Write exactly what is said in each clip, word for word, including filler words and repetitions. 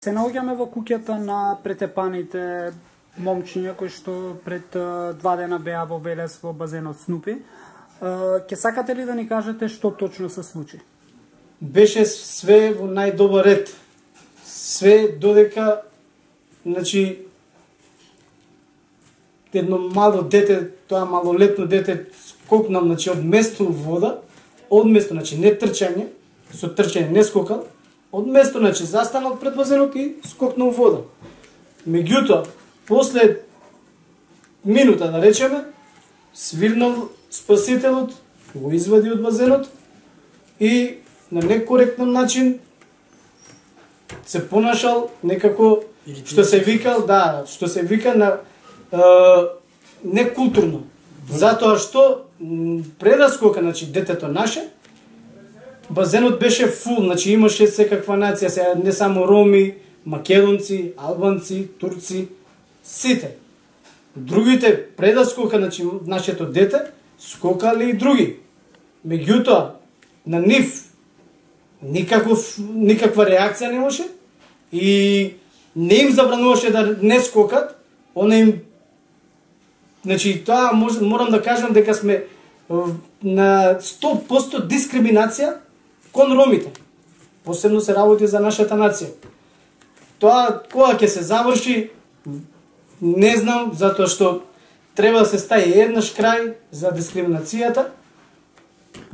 Се наоѓаме во куќата на претепаните момчиња кои што пред два дена беа во Велес во базенот Снупи. Ке сакате ли да ни кажете што точно се случи? Беше све во најдобар ред. Све додека, значи, едно мало дете, тоа малолетно дете, скокнам, значи, од место вода, од место, значи, не трчање, со трчање не скокал, од место, значи, застанал пред базенот и скокнал вода. Меѓутоа, после минута, да речеме, свирнал спасителот, го извади од базенот и на некоректен начин се понашал некако, што се викал, да, што се вика на е, некултурно. Затоа што пред да скока, значи, детето наше, базенот беше фул, значи имаше секаква нација, сега не само роми, македонци, албанци, турци, сите. Другите пред да скока, значи нашето дете, скокале и други. Меѓутоа, на нив никаков никаква реакција немаше и не им забрануваше да не скокат, она им, значи тоа мож, морам да кажам дека сме на сто проценти дискриминација кон ромите. Посебно се работи за нашата нација. Тоа кога ќе се заврши, не знам, затоа што треба да се стави еднаш крај за дискриминацијата.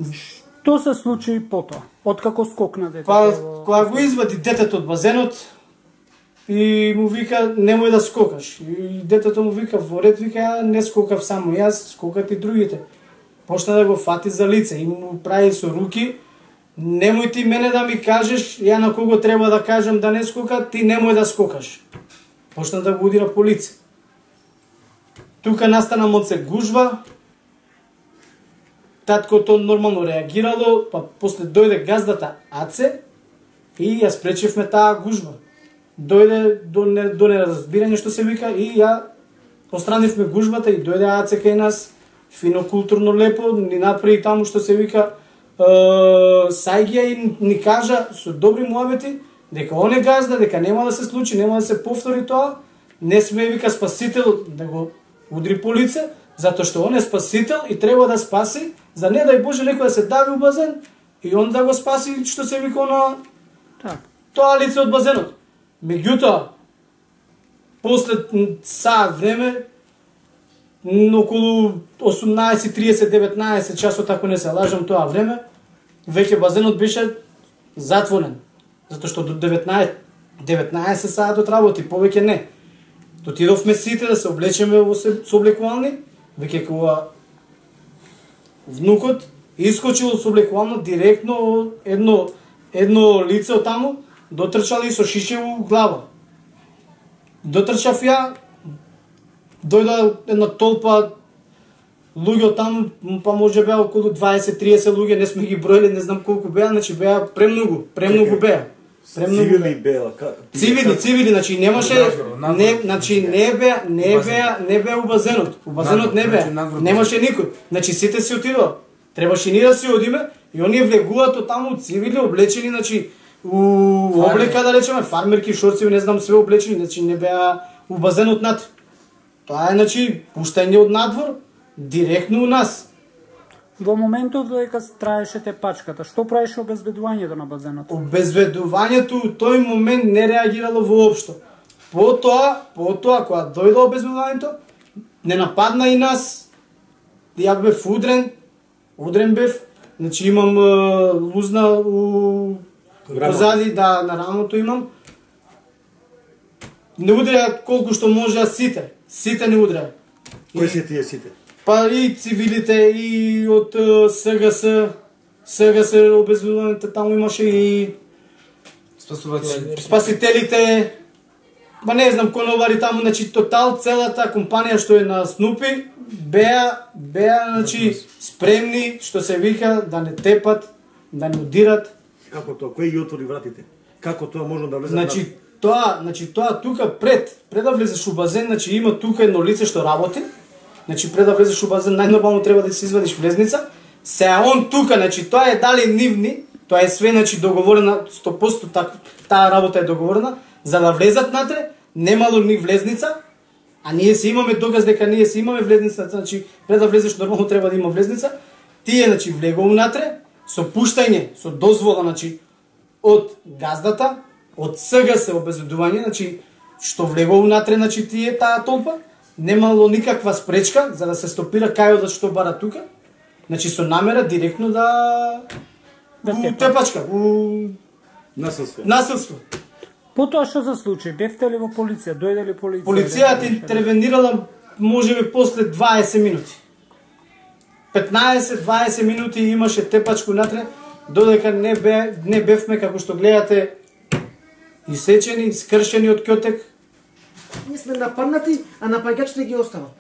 Што се случи потоа? Откако скокна детето? Па, кога го извади детето од базенот и му вика немој да скокаш. И детето му вика во ред, вика не скокав само јас, скокат и другите. Почна да го фати за лице и му прави со руки: немој ти мене да ми кажеш, ја на кого треба да кажам да не скока, ти немој да скокаш. Почна да го удира по лице. Тука настана моце гужва. Таткото нормално реагирало, па после дојде газдата Аце и ја спречивме таа гужва. Дојде до, не, до неразбирање што се вика и ја остранивме гужвата и дојде Аце кај нас, фино, културно, лепо, ни направи таму што се вика е, сајгија и ни кажа со добри муабети дека он е газда, дека нема да се случи, нема да се повтори тоа, не сме, вика, спасител да го удри по лице, затоа што он е спасител и треба да спаси, за не дај Боже некој да се дави у базен и он да го спаси, што се вика на так. Тоа лице од базенот. Меѓутоа, после саат време, околу осумнаесет тридесет деветнаесет часот, ако не се лажам тоа време, веќе базенот беше затворен. Затоа што до деветнаесет, деветнаесет саатот работи, повеќе не. Дотидовме сите да се облечеме во соблекувални, веќе кога внукот искочил од соблекувално директно едно едно лице од таму, дотрчал и со шише во глава. Дотрчав ја, дојда една толпа луѓе таму, па може беа околу дваесет тридесет луѓе, не сме ги бројали, не знам колку беа, значи беа премногу, премногу беа. Цивили беа, цивили, цивили, значи немаше, не, значи не беа, не беа, не беа у базенот. У базенот не беа. Немаше никој. Значи сите си отидоа. Требаше ние да си одиме и оние влегуваат од таму цивили облечени, значи у облека, да речеме, фармерки, шорци, не знам, све облечени, значи не беа у базенот над. Тоа е, значи, пуштање од надвор директно у нас. Во моментот додека траеше тепачката, што правеше обезбедувањето на базенот? Обезбедувањето у тој момент не реагирало воопшто. Потоа, потоа кога дојде обезбедувањето, не нападна и нас. Ја бев удрен, удрен бев, значи имам е, лузна у позади, да, на рамото имам. Не удрија колку што можеа сите, сите не удрија. Кои се тие сите? Па и цивилите, и од СГС, СГС обезбедувањето, таму имаше и спасителите, па не знам, конобари таму, значи тотал целата компанија што е на Снупи, беа, беа, значи, спремни, што се вика, да не тепат, да не удират. Како тоа? Кој ги отвори вратите? Како тоа можно да влезе? Значи, тоа, значи тоа тука пред, пред да влезеш у базен, значи има тука едно лице што работи. Значи пред да влезеш у базен, најнормално треба да си извадиш влезница. Сеа он тука, значи тоа е дали нивни, тоа е све, значи договорена сто проценти, таа работа е договорена. За да влезат натре, немало ни влезница, а ние си имаме доказ дека ние си имаме влезница, значи пред да влезеш нормално треба да има влезница. Тие значи влегол натре со пуштање, со дозвола значи од газдата, од СГС обезбедување, значи што влегол натре значи тие таа толпа, немало никаква спречка за да се стопира кајодот што бара тука. Значи со намера директно да Да у тепа. тепачка, у Насилство. насилство. Потоа што за случај? Бевте ли во полиција? Дојде ли полиција? Полицијата интервенирала можеби после дваесет минути. петнаесет-дваесет минути имаше тепачку натре, додека не бе не бевме како што гледате исечени, скршени од ќотек. Ние сме нападнати, а напаѓачите ги остават.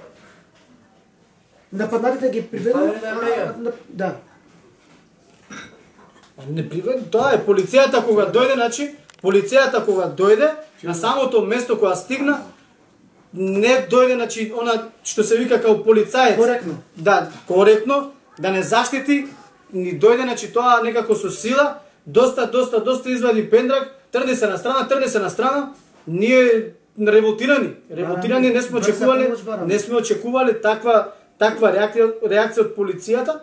Нападнатите ги приведува. Да. Не привед, тоа е полицијата кога дојде, значи полицијата кога дојде на самото место кога стигна, не дојде, значи она што се вика како полицаец. Коректно. Да, коректно, да не заштити, ни дојде, значи тоа некако со сила, доста, доста, доста извади пендрак, трне се на страна, трне се на страна, ние револтирани, револтирани не сме брза очекувале, помош бараме. не сме очекувале таква таква реакција, реакција од полицијата.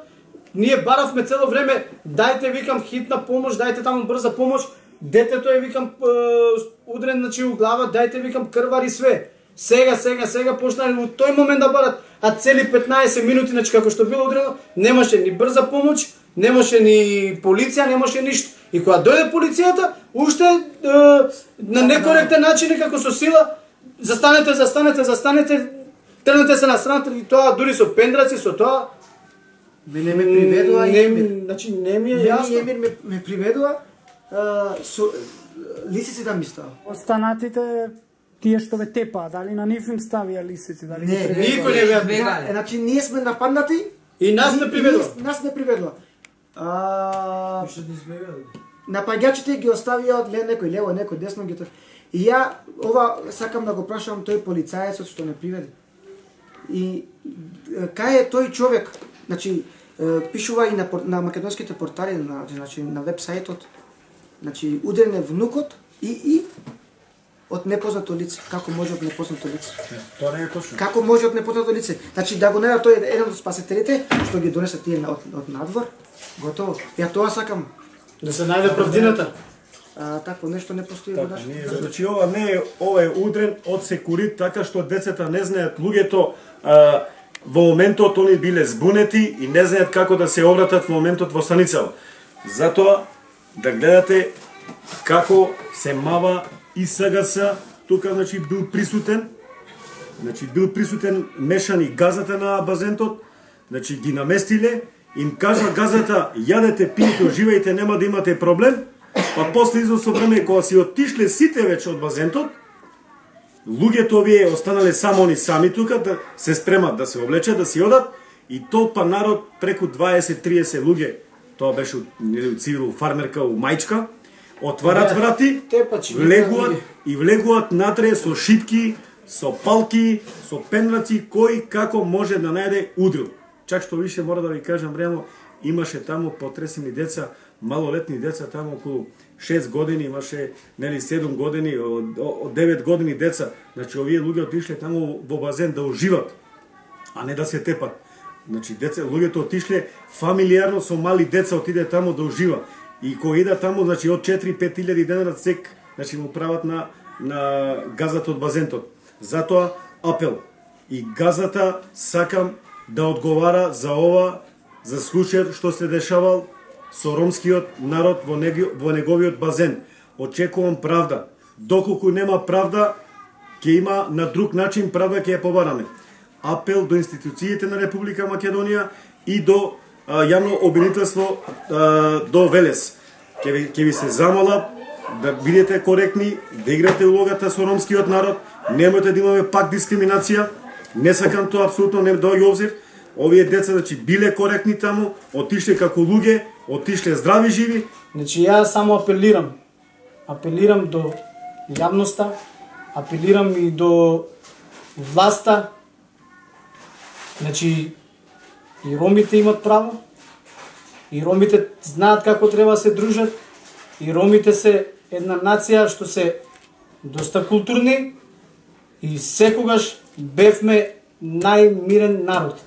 Ние баравме цело време, дајте викам хитна помош, дајте таму брза помош, детето е викам е, удрен значи у глава, дајте викам крвари све. Сега, сега, сега почнали во тој момент да барат, а цели петнаесет минути, значи како што било удрено, немаше ни брза помош, немаше ни полиција, немаше ништо. И кога дојде полицијата, уште е, на некоректен начин како со сила, застанете, застанете, застанете, трнете се на страната и тоа дури со пендраци, со тоа. Мене ме приведува не, и Емир. значи не ми е Мене јасно. и Емир ме, ме приведува а, со лисици да ми става. Останатите тие што ве тепаа, дали на нив им ставија лисици, дали Не, ги приведува? Никој не беа Да, значи ние сме нападнати и нас не приведува. и Нас не приведува. А, напаѓачите ги оставија од ле некој лево, некој десно ги тр- И ја ова сакам да го прашам тој полицаецот што не приведе. И е, кај е тој човек? Значи е, пишува и на, пор- на македонските портали, на значи на вебсајтот. Значи удрен е внукот и и од непознато лице. Како може од непознато лице? Тоа не е точно. Како може од непознато лице? Значи да го најдат тој еден од спасителите што ги донесе тие на- од, од надвор. Готово. Ја тоа сакам. Да се најде правдината. А, такво нешто не постои во Така, нашата ние, држава. значи ова не е, ова е удрен од секурит, така што децата не знаат, луѓето а, во моментот они биле збунети и не знаат како да се обратат во моментот во станицава. Затоа да гледате како се мава и СГС, тука значи бил присутен, значи бил присутен мешани газата на базентот, значи ги наместиле, им кажа газата јадете, пиете, уживајте, нема да имате проблем. Па после извесно време кога си оттишле сите веќе од базентот, луѓето овие останале само они сами тука да се спремат да се облечат, да си одат и толпа народ преку дваесет-триесет луѓе, тоа беше нели цивил фармерка у мајчка, отварат Да, врати, тепачи, влегуваат луѓе. и влегуваат натре со шипки, со палки, со пендраци, кој како може да најде удрил. Чак што више мора да ви кажам, ремо, имаше таму потресени деца, малолетни деца, таму околу шест години, имаше нели седум години, од, од девет години деца. Значи овие луѓе отишле таму во базен да уживат, а не да се тепат. Значи деца, луѓето отишле фамилиарно со мали деца отиде таму да ужива. И кој иде таму, значи од четири-пет илјади денара сек, значи му прават на на газата од базентот. Затоа апел. И газата сакам да одговара за ова, за случајот што се дешавал со ромскиот народ во, неги, во неговиот базен. Очекувам правда. Доколку нема правда, ќе има на друг начин правда ќе ја побараме. Апел до институциите на Република Македонија и до а, јавно обвинителство а, до Велес. Ќе ви, ќе ви се замола да бидете коректни, да играте улогата со ромскиот народ, немојте да имаме пак дискриминација. Не сакам тоа апсолутно не доаѓа обзир. Овие деца значи биле коректни таму, отишле како луѓе, отишле здрави живи. Значи ја само апелирам. Апелирам до јавноста, апелирам и до власта. Значи и ромите имат право. И ромите знаат како треба да се дружат. И ромите се една нација што се доста културни и секогаш бевме најмирен народ.